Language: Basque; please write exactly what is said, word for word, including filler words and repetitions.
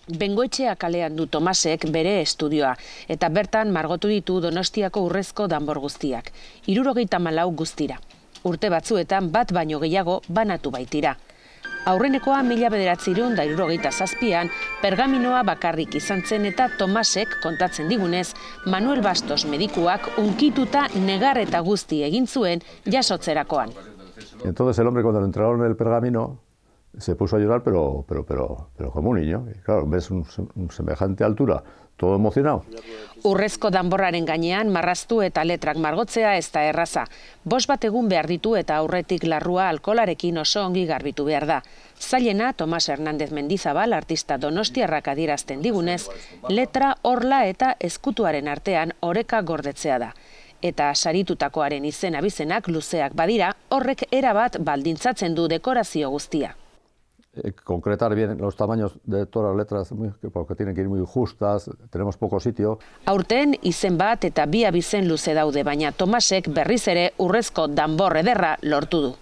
Bengoetxea kalean du Tomasek bere estudioa, eta bertan margotu ditu Donostiako urrezko danbor guztiak, hirurogeita hamalau guztira. Urte batzuetan bat baino gehiago banatu baitira. Aurrenekoa mila bederatziehun eta hirurogeita zazpian pergaminoa bakarrik izan zen eta Tomasek kontatzen digunez, Manuel Bastos medikuak unkituta negar eta guzti egin zuen jasotzerakoan. Entonces el hombre cuando le entregaron el pergamino se puso a llorar, pero, pero, pero, pero como un niño. Y claro, ves un, un semejante altura, todo emocionado. Urrezko danborraren gainean marraztu eta letrak margotzea ez da erraza. Bost bat egun behar ditu eta aurretik larrua alkolarekin oso ongi garbitu behar da. Zailena, Tomas Hernández Mendizabal, artista donostiarrak adierazten digunez, letra, orla eta ezkutuaren artean oreka gordetzea da. Eta saritutakoaren izen abizenak luzeak badira, horrek erabat baldintzatzen du dekorazio guztia. Concretar bien los tamaños de todas las letras, porque tienen que ir muy justas, tenemos poco sitio. Aurten izen bat eta bi abizen luze daude, baina Tomasek berriz ere urrezko danbor ederra lortu du.